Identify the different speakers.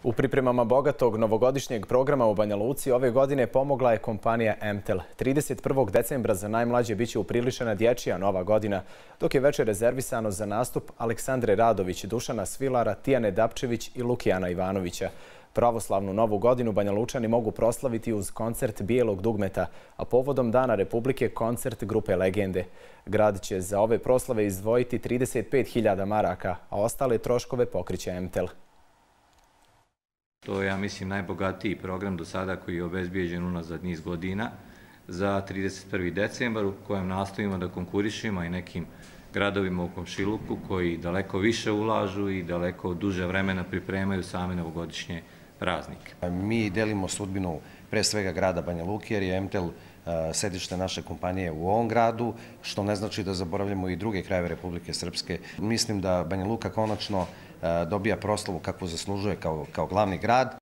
Speaker 1: U pripremama bogatog novogodišnjeg programa u Banja Luci ove godine pomogla je kompanija Emtel. 31. decembra za najmlađe biće upriličena dječja nova godina, dok je večer rezervisano za nastup Aleksandre Radović, Dušana Svilara, Tijane Dapčević i Lukijana Ivanovića. Pravoslavnu novu godinu Banja Lučani mogu proslaviti uz koncert Bijelog dugmeta, a povodom Dana Republike koncert grupe Legende. Grad će za ove proslave izdvojiti 35.000 maraka, a ostale troškove pokriće Emtel.
Speaker 2: To je, ja mislim, najbogatiji program do sada koji je obezbijeđen unazad niz godina za 31. decembar u kojem nastojimo da konkurišemo i nekim gradovima u komšiluku koji daleko više ulažu i daleko duže vremena pripremaju same novogodišnje praznike.
Speaker 3: Mi delimo sudbinu pre svega grada Banja Luke jer je Emtel sedište naše kompanije u ovom gradu, što ne znači da zaboravljamo i druge krajeve Republike Srpske. Mislim da Banja Luka konačno dobija proslavu kakvu zaslužuje kao glavni grad.